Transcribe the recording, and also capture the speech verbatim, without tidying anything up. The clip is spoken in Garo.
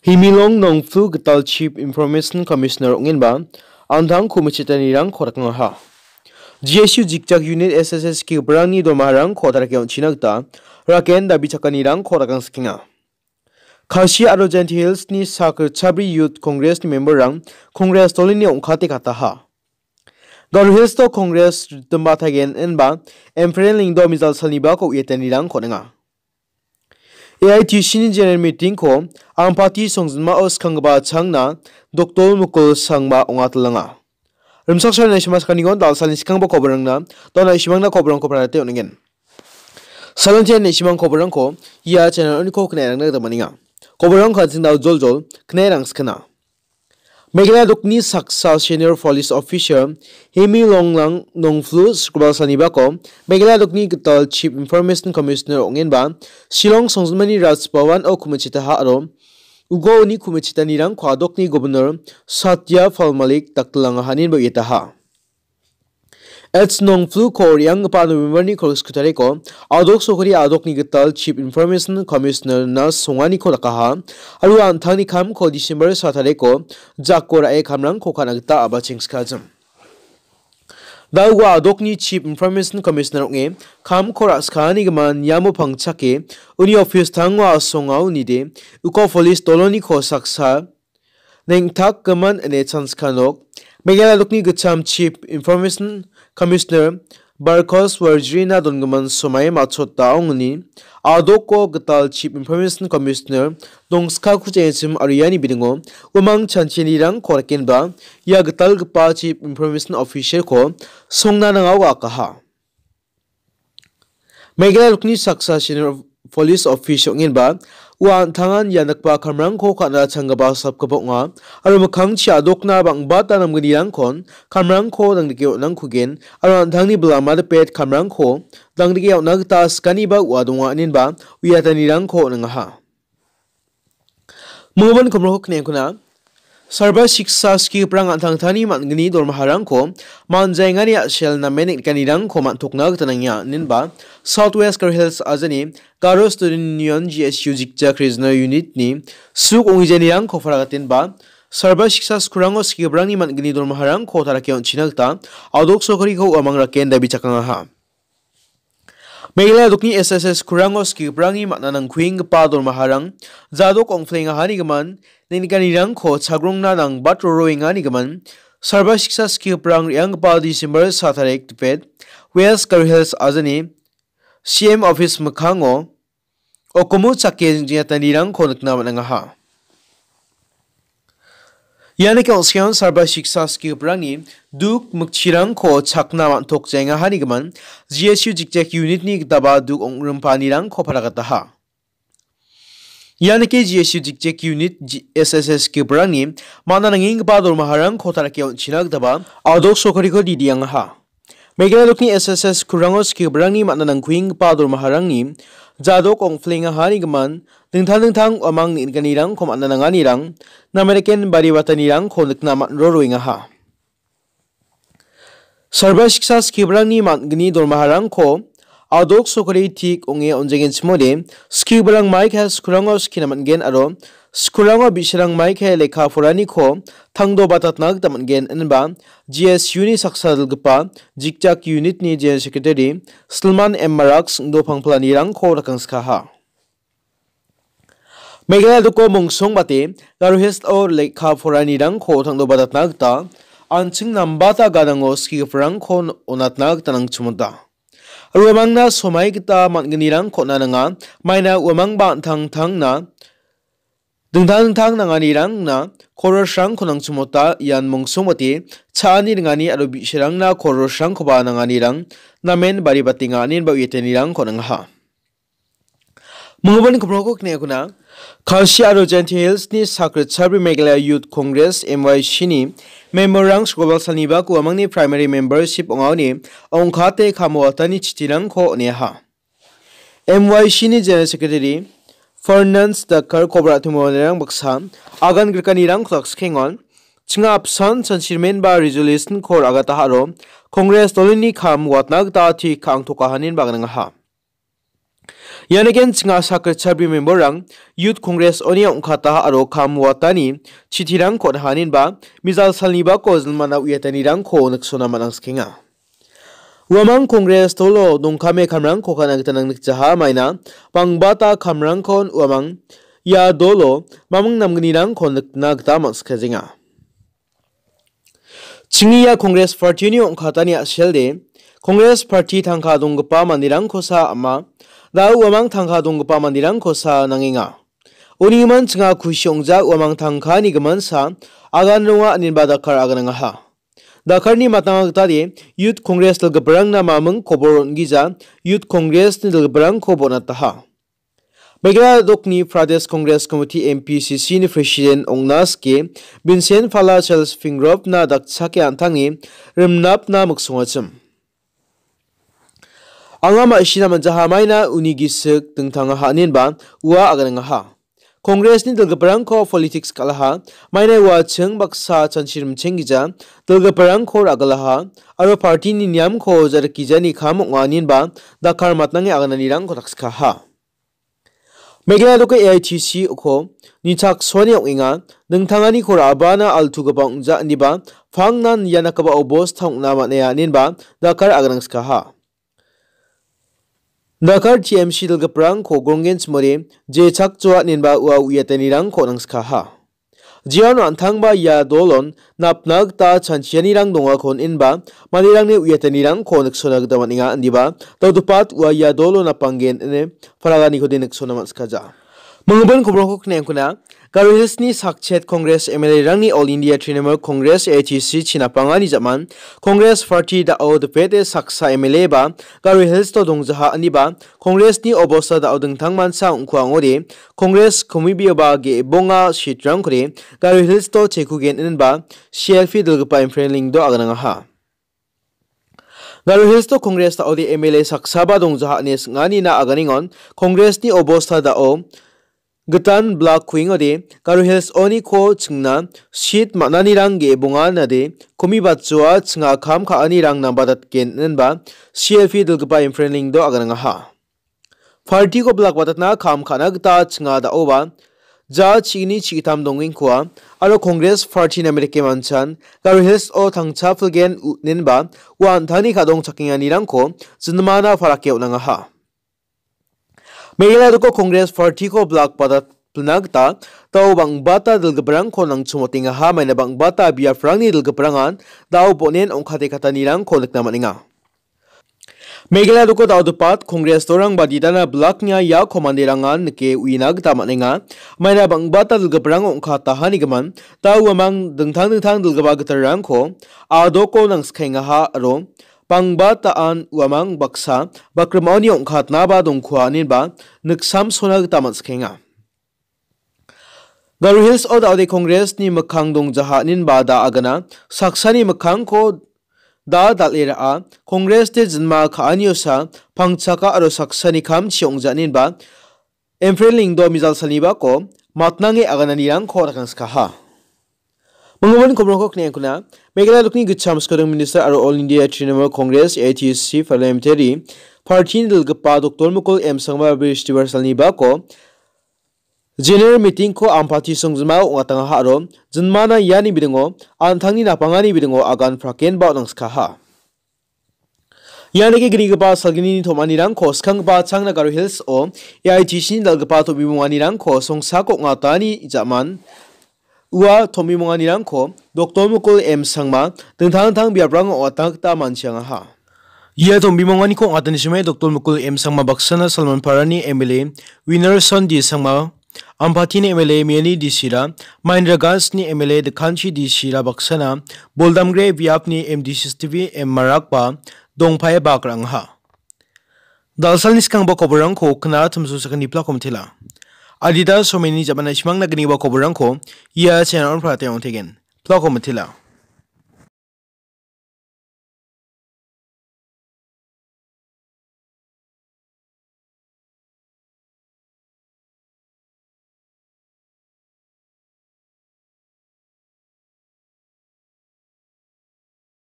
Himilong Nongflu gital Chief Information Commissioner ong·enba an·tang komichitanirangko rakangaha. G S U jikjak unit S S S kigiparangni dormaharangko tarake on·china gita raken dabi chakanirangko rakangsikenga. Khasi aro Jaintia Hillsni sak ritchabri Youth Congressni memberrang Congress dolini ong·kate kataha. Garo Hillsto Congress ritdim bataigen inba Emperor Lyngdoh mijal salnibako uiatanirangko on·enga. A I T C ni general meeting-ko Ampati songjinmao skanggipa changna Doktor Mukul Sangma ong·atelanga. Rimchaksoa naisima sakanigon dalsalni skanggipa koborangna dona isimangna koborangko parate on·engen. Salontian naisima koborangko ia channel oniko knae rangna gita man·enga. Koborang kanching dao joljol knae rangskana. Meghalaya dokni saksa senior police officer Hemi Longnang Nongflu Sukroba salnibako Meghalaya dokni gital Chief Information Commissioner ong·enba Shillong songjinmani Raj Bhavan-o komichitaha aro uko uni komichitanirangko adokni Governor Satya Pal Malik daktilangahaninba uiataha. H Nongfluko re·anggipa November-ni kolgriksku tariko adok sokari adokni gital Chief Information Commissioner-na songaniko dakaha, aro an·tangni kamko December sa tariko jako ra·e kamrangko ka·na gita a·bachengskajim. Da ua adokni Chief Information Commissioner ong·e kamko ra·skanigimin iamo pangchake uni office tango asonga unide uko police doloniko saksa neng·takgimin ine chanska nok, Meghalaya dokni gitcham Chief Information Commissioner Barkos Warjrina dongimin somai matchota ong·ode, adoko gital Chief Information Commissioner dongskako jengchim aro iani bidingo uamang chanchinirangko rakenba ia gitalgipa Chief Information Officer-ko songna nangao akaha. Meghalaya dokni saksa senior police officer ong·enba ua an·tangan ia dakgipa kamrangko ka·na changgipa sapgipa ong·a, aro mikkangchi adokna bang·bata namgnirangkon kamrangko dangdike on·angkugen, aro an·tangni bilama dipet kamrangko dangdike on·na gita skaniba ua donga inenba uiatanirangko on·angaha. Minggimin komroko kniengkuna, Sarva Shiksha skigiparang an·tangtangni man·gni dormaharangko man·jaengani a·sel namen neng·nikanirangko man·tokna gita nangenga, inenba South West Garo Hills ajani Garo Student Union, G S U, jikjak regional unit-ni suk ong·gijanirangko paragatenba Sarva Shiksha skurango skigiparangni man·gni dormaharangko tarake on·china gita adok sorkariko uamang raken dabi chakangaha. Meghalaya dokni S S S kurango skigiparangni man·a nangkuenggipa dormaharang jadok ong·plengahanigimin, neng·nikanirangko chagrongna nangbat roroenganigimin, Sarva Shiksha skigiparang re·anggipa December sa tarik dipet, West Garo Hills ajani C M office mikkango okomu chake jingjatanirangko nikna man·angaha. Ianike ong·sian Sarva Shiksha skigiparangni duk mikchirangko chakna man·tok jaengahanigimin, G S U jikjak unit-ni gitaba duk ong·rimpaanirangko paragataha. Ianike G S U jikjak unit G-, S S S skigiparangni man·a nangenggipa dormaharangko tarake on·china gitaba adok sorkariko didiangaha. Meghalaya dokni S S S kurango skigiparangni man·a nangkuenggipa dormaharangni jadok ong·plengahanigimin, dingtang dingtang uamang neng·nikanirangko man·a nanganirang, nameriken bari batanirangko nikna man·roroengaha. Sarva Shiksha skigiparangni man·gni dormaharangko adok sorkari tik ong·e on·jengenchimode, skigiparang maikaia skulango skina man·gen aro skulango bi·sarang maikaia lekka poraniko tangdobatatna gita man·gen, inba G S U-ni saksa dilgipa jikjak unit-ni General Secretary Silman M Marak singdo pangpalanirangko rakangskaha. Meghalaya doko mongsongbate Garo Hills-o lekka poranirangko tangdobatatna gita an·ching nambata gadango skigiparangko onatna gita nangchimota. Uamangna somai gita man·gnirangko on·a nanga, maina uamangba an·tangtangna dingtang dingtang nanganirangna korosrangko nangchimota, ian mongsongbate cha·ani ringani aro bi·sarangna korosrangkoba nanganirang namen bari batenga, inenba uiatanirangko on·angaha. Minggimin komroko kniengkuna, Khasi aro Jaintia Hills-ni sak ritchabri Meghalaya Youth Congress, M Y C-ni member-rang sokobal salnibak uamangni primary membership ong·aoni ong·kate kam watani chitirangko on·eaha. M Y C-ni General Secretary Fernand Dakar kobra timoanirang baksa agan grikanirangko dakskiengon, chinga apsan chansirmen ba resolution-ko ra·gataha aro Congress dolini kam watna gita tik ka·angtokahanin baganangaha. Ian eken chinga sakritchakri memberrang Youth Congress-oni ong·kata aro kam watani chitirangko on·aha, inenba mijal salnibako jilmana uiatanirangko niksona man·angsikenga. Uamang Congress dolo dongkame kamrangko ka·na gita nangnikjaha, maina bangbata kamrangkon uamang ia dolo maming namgnirangko nikna gita man·sikajenga. Chingni ia Congress Party-ni ong·katani a·selde, Congress Party tangka donggipa manderangkosa ama, da·o uamang tangka donggipa manderangkosa nangenga. Uni iman chinga kusi ong·ja uamang tangkani gimansa agan ronga, inenba dakar aganangaha. Dakarni matanga gitade Youth Congress dilgiparangna maming kobor on·gija, Youth Congress-ni dilgiparangko bonataha. Meghalaya dokni Pradesh Congress Committee, M P C C-ni President ong·na sike Vincent Pala Charles Pingropna dakchake an·tangni rimnapna miksongachim. Anga ma·sina man·jaha, maina uni gisik dingtangaha, inenba ua aganangaha. Congress-ni dilgiparangko politics kal·aha, maina ua ching baksa chanchi rimchenggija dilgiparangko ra·gilaha, aro party-ni niamko ja·rikgijani kam ong·a, inenba dakar matnange agananirangko dakskaha. Meghalaya doke A I T C-ko nichaksoani ong·enga, dingtanganiko ra·abana altugipa ong·ja, ineba pangnan ia dakgipa obosta ong·na man·aia, inenba dakar aganangskaha. Dakar T M C dilgiparangko gronggen chimode jechakjoa, inenba ua uiatanirangko nangskaha. Jeon an·tangba ia dolon napna gita chanchianirang dongakon inba manderangni uiatanirangko niksona gita man·enga, indiba dal·gipat ua ia dolo napanggen ine paraganiko de niksona man·sikaja. Mingibin kobrongko kneangkuna, Garo Hills-ni sakchet Congress M L A-rangni All India Trinamool Congress, A I T C, chinapangani jaman Congress Party da·o dipete saksa M L A ba Garo Hills-o dongjaha, indiba Congress-ni obosta da·o dingtangmancha ong·kua ong·ode, Congress komibioba ge·bonga seat-rangkode Garo Hills-o chekugen inenba C L P dilgipa Imphrenlingdo aganangaha. Garo Hills-o Congress da·ode M L A saksaba dongjaha ine sing·anina aganengon Congress-ni obosta da·o gitan blak kuengode Garo Hills-oniko chingna seat man·anirang ge·bonganade komibatjoa chinga kam ka·anirang nambatatgen inenba C L P dilgipa Imphrenlingdo aganangaha. Party-ko blak batatna kam ka·na gita chinga da·oba ja chi·gni chi·gittam dongengkoa aro Congress Party-na merike manchan Garo Hills-o tangcha pilgen u-, inenba ua an·tangni ka·dongchakenganirangko jinmana parake on·angaha. Meghalaya doko Congress Party-ko blak batat pilna gita da·o bang·bata dilgiparangko nangchomotengaha, maina bang·bata biaprangan da·o bon·en ong·kate katanirangko nikna man·enga. Meghalaya doko da·o dipet Congress dorangba didana blaknia iako manderangan nike uina gita man·enga. Maina bang·bata dilgiparang ong·katahanigimin da·o uamang dingtang dingtang dilgipa gitalrangko adoko nangsikengaha aro bang·bataan uamang baksa bakrimaoni ong·katnaba dongkua ineba niksamsona gita man·sikenga. Garo Hills-o da·ode Congress-ni mikkang dongjaha inenba da agana, saksani mikkangko da dal·e ra·a, Congress-de jinma ka·aniosa pangchaka aro saksani kamchi ong·ja inenba Imphrenlingdo mijal salnibako matnange agananirangko rakangskaha. Mingibin kobrongko kneangkuna, Meghalaya dokni gitcham skodong minister aro All India Trinamool Congress, A I T C, parliamentary party-ni dilgipa Doctor Mukul M Sangma Bristibar salnibako General meeting-ko Ampati songjinmao ong·atangaha aro jinmana iani bidingo, an·tangni napangani bidingo agan prakenba on·angskaha. Ianike gnigipa salgnini tom·anirangko skanggipa Changna Garo Hills-o A I T C-ni dal·gipa tom·bimonganirangko songsako ong·atani ja·man ua tom·bimonganirangko Doctor Mukul M Sangma dingtang dingtang biaprango ong·atna gita man·siangaha. Ia tombimonganiko ong·atani sime Doctor Mukul M Sangma baksana Salmanparani M L A Winnerson D Sangma, Ampatini M L A Miani D Sira, Mahendra Ganjni M L A Dikhanchi D Sira baksana Boldamgre biapni M D C Stevie M Marakba dongpae bak ra·angaha. Dalsalni skangba koborangko kna tumsu sakani plako mitela. Adita someni jamana simangna gniba koborangko ia channel-on prate ong·tegen. Plako mitela.